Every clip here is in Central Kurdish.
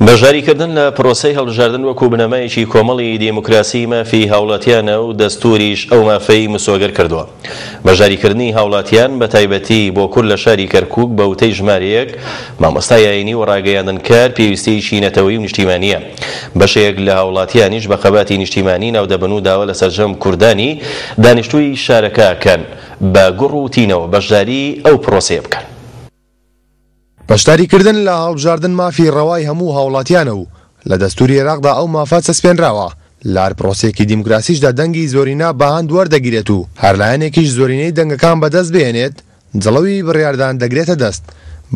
بەشداریکردن لە پرۆسەی هەڵبژاردن وەکو بنەمایەکی کۆمەڵی دیموکراسی مافی هاوڵاتیانە و دەستوریش ئەو مافەی مسۆگەر کردووە. بەشداریکردنی هاوڵاتیان بە تایبەتی بۆ کورد لە شاری کەرکوک بە وتەی ژمارەیەک مامۆستای ئاینی و ڕاگەیاندنکار پێویستییەکی نەتەوەیی و نیشتیمانییە. بەشێک لە هاوڵاتیانیش بە خەباتی نیشتیمانی ناودەبەن و داوا لە سەرجەم کوردانی دانیشتووی شارەکە ئەکەن بە گوڕ و تینەوە بەشداری ئەو پرۆسەیە بکەن. بەشداریکردن لە هەڵبژاردن مافی ڕەوای هەموو هاوڵاتیانە و لە دەستوری عێراقدا ئەو مافە چەسپێنراوە، لە هەر پرۆسەیەکی دیموکراسیشدا دەنگی زۆرینە بە هەند وەردەگیرێت و هەر لایەنێکیش زۆرینەی دەنگەکان بەدەست بهێنێت جڵەوی بڕیاردان دەگرێتە دەست،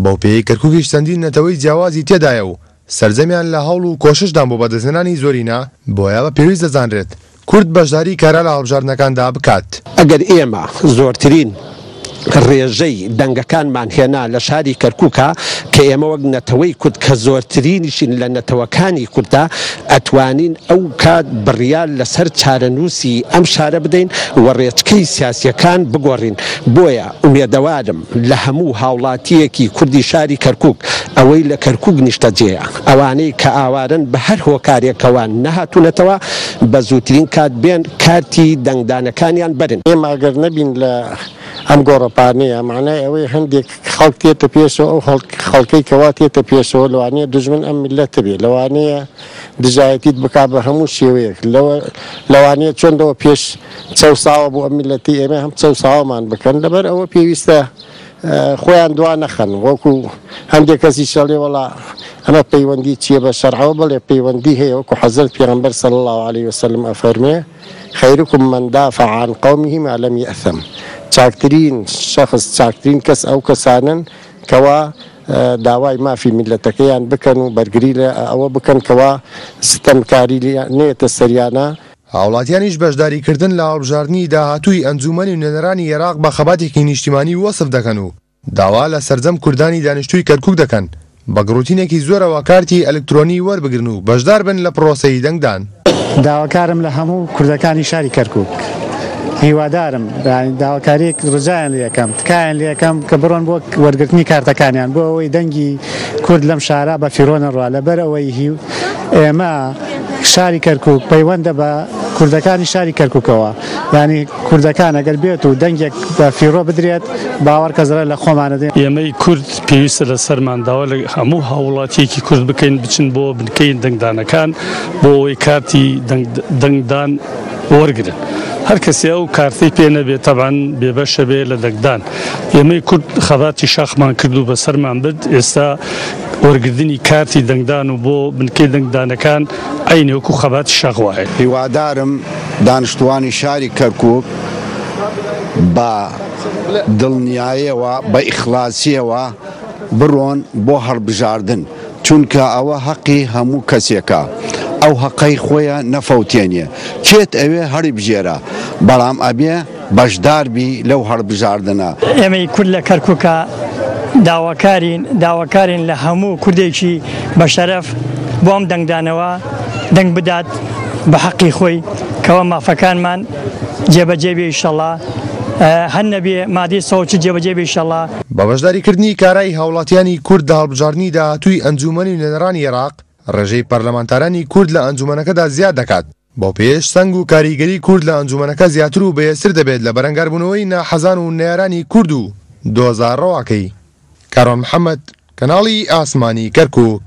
بەو پێیەی کەرکوکیش چەندین نەتەوەی جیاوازی تێدایە و سەرجەمیان لە هەوڵ و کۆششدان بۆ بەدەستهێنانی زۆرینە، بۆیە بە پێویست دەزانرێت کورد بەشداری کارا لە هەڵبژاردنەکاندا بکات. ئەگەر ئێمە زۆرترین ڕێژەی دەنگەکانمان هێنا لە شاری کەرکوکا کە ئێمە وەک نەتەوەی کورد کە زۆرترینیشین لە نەتەوەکانی کورددا ئەتوانین ئەو کات بڕیار لەسەر چارەنووسی ئەم شارە بدەین و ڕێچکەی سیاسیەکان بگۆڕین بۆیە ئومێدەوارم لە هەموو هاوڵاتییەکی کوردی شاری کەرکوک، ئەوەی لە کەرکوک نیشتەجێیە، ئەوانەی کە ئاوارەن بە هەر هۆکارێکەوە نەهاتوونەتەوە، بە زووترین کات بێن کارتی دەنگدانەکانیان بەرن. ئێمە ئەگەر نەبین لە ئەم گۆڕەپانەیە، مانای ئەوەیە هەندێک خەڵک تێتە پێشەوە، ئەو خەڵکەی کەوا تێتە پێشەوە لەوانەیە دوژمن ئەم میللەتە بێ، لەوانەیە دژایەتیت بکا بە هەموو شێوەیەک، لەوانەیە چۆن لەوە پێش چەوساوە بۆ ئەم میللەتی ئێمە هەم چەوساوەمان بکەن لەبەر ئەوە پێویستە خۆیان دوا نەخەن وەکو هەندێک کەسی شەڵێ وەڵا ئەمە پەیوەندی چییە بە شەرعەوە بڵێ پەیوەندی هەیە وەکو حەزرەت پێغەمبەر صلی الله علیه وسلم ئەفەرمێ خیرکم من دافع عن قومه ما لم یأثم چاکترین شخص چاکترین کەس ئەو کەسانن کەوا داوای مافی میللەتەکەیان بکەن و بەرگری لە ئەوە بکەن کەوا ستەمکاری نەیەتە سەریانە. هاوڵاتیانیش بەشداریکردن لە هەڵبژاردنی داهاتووی ئەنجوومەنی نوێنەرانی عێراق بە خەباتێکی نیشتیمانی وەسف دەکەن و داوا لە سەرجەم کوردانی دانیشتووی کەرکوک دەکەن بە گڕوتینێکی زۆرەوە کارتی ئەلکترۆنی وەربگرن و بەشداربن لە پڕۆسەی دەنگدان. داواکارم لە هەموو کوردەکانی شاری کەرکوک هیوادارم یانی داواکاریەک ڕجایان لێ ئەکەم تکایان لێ ئەکەم کە بڕۆن بۆ وەرگرتنی کارتەکانیان بۆ ئەوەی دەنگی کورد لەم شارە بە فیڕۆ نەڕوا لەبەر ئەوەی ئێمە شاری کەرکوک پەیوەندە بە کوردەکانی شاری کەرکوکەوە یانی کوردەکان ئەگەر بێت و دەنگێک بە فیڕۆ بدرێت باوەڕ کە زەرەر لە خۆمانە دێن. ئێمەی کورد پێویستە لەسەرمان داوا لە هەموو هاووڵاتییەکی کورد بکەین بچن بۆ بنکەی دەنگدانەکان بۆ ئەوەی کارتی دەنگدان وەرگرن. هەر کەسێ ئەو کارتەی پێ نەبێت تەبعەن بێبەشە بێ لە دەنگدان. ئێمەی کورد خەباتی شاخمان کرد و بەسەرمان برد، ئێستا وەرگرتنی کارتی دەنگدان و بۆ بنکەی دەنگدانەکان عەینی وەکو خەباتی شاخ وایە. هیوادارم دانشتوانی شاری کەرکوک بە دڵنیایەوە بە ئیخلاسیەوە بڕۆن بۆ هەڵبژاردن چونکە ئەوە هەقی هەموو کەسێکە ئەو هەقەی خۆیە نەفەوتێنێ کێت ئەوێ هەڵیبژێرە بەڵام ئەبێ بەشدار بی لەو هەڵبژاردنە. ئێمەی کورد لە کەرکوکا داواکارین داواکارین لە هەموو کوردێکی بە شەرەف بۆ ئەم دەنگدانەوە دەنگ بدات بە حەقی خۆی کەوا مافەکانمان جێبەجێ بێ ئیشەڵا هەر نەبێ مادەی 140 جێبەجێ بێ ئیشەڵا. بە بەشداریکردنی کارای هاوڵاتیانی کورد لە هەڵبژاردنی داهاتووی ئەنجوومەنی نوێنەرانی عێراق، ڕێژەی پەرلەمانتارانی کورد لە ئەنجوومەنەکەدا زیاد دەکات. بەوپێیەش سەنگ و کاریگەری کورد لە ئەنجومەنەکە زیاتر و بەهێزتر دەبێت لە بەرەنگاربوونەوەی ناحەزان و نەیارانی کورد و دۆزە ڕەواکەی. کاروان محەمەد، کەناڵی ئاسمانی کەرکوک.